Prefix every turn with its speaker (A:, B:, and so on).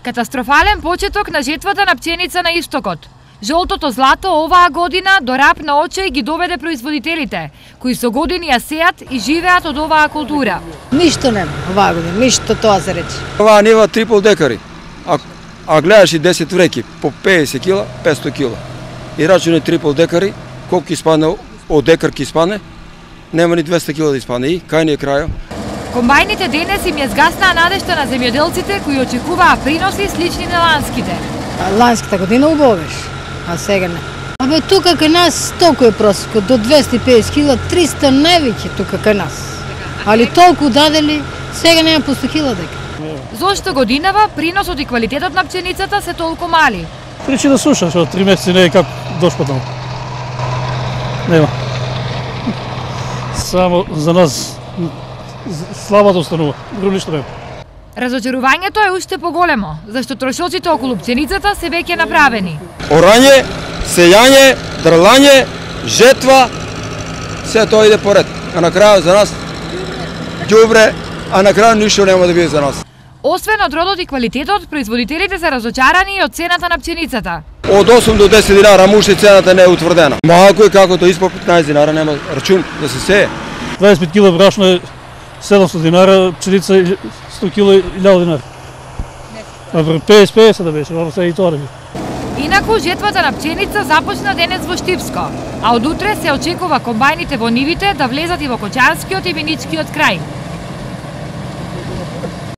A: Катастрофален почеток на жетвата на пченица на истокот. Жолтото злато оваа година до рап на очај ги доведе производителите, кои со години ја сеат и живеат од оваа култура.
B: Ништо нема оваа година, ништо тоа се рече.
C: Оваа нива трипол декари, а гледаш и 10 вреки, по 50 кила, 500 кила. И рачуне трипол декари, колку ќе испадне, од декар ќе испадне, нема ни 200 кила да испадне. И кај ни е крајот.
A: Комбајните денес им ја згаснаа надежта на земјоделците кои очекуваа приноси слични на ланските.
B: Ланската година убаво беше, а сега не. Абе тука кај нас толку е просекот, до 250 кила, 300 највеќе тука кај нас. Али толку дадели, сега нема по 100 кила дека.
A: Зошто годинава приносот и квалитетот на пченицата се толку мали?
D: Причи да суша, што 3 месеци не е како дошпаднал. Нема. Само за нас слабата останува, друго ништо нема.
A: Разочарувањето е уште поголемо, зашто трошоците околу пченицата се веќе направени.Орање,
C: сејање, дрлање, жетва, се тоа иде поред. А на крајот за нас ѓубре, а на крајот ништо нема да биде за нас.
A: Освен од родот и квалитетот, производителите се разочарани и од цената на пченицата.
C: Од 8 до 10 динара муште цената не е утврдена. Малку е како тоа испод 15 динара нема рачун да се сее.
D: 25 кила брашно е 700 динара, пченица 100 кила 1000 динара. А 50 да беше, ова се и тоа.
A: Инаку жетвата на пченица започна денес во Штипско, а од утре се очекува комбајните во нивите да влезат и во Кочанскиот и Виничкиот крај.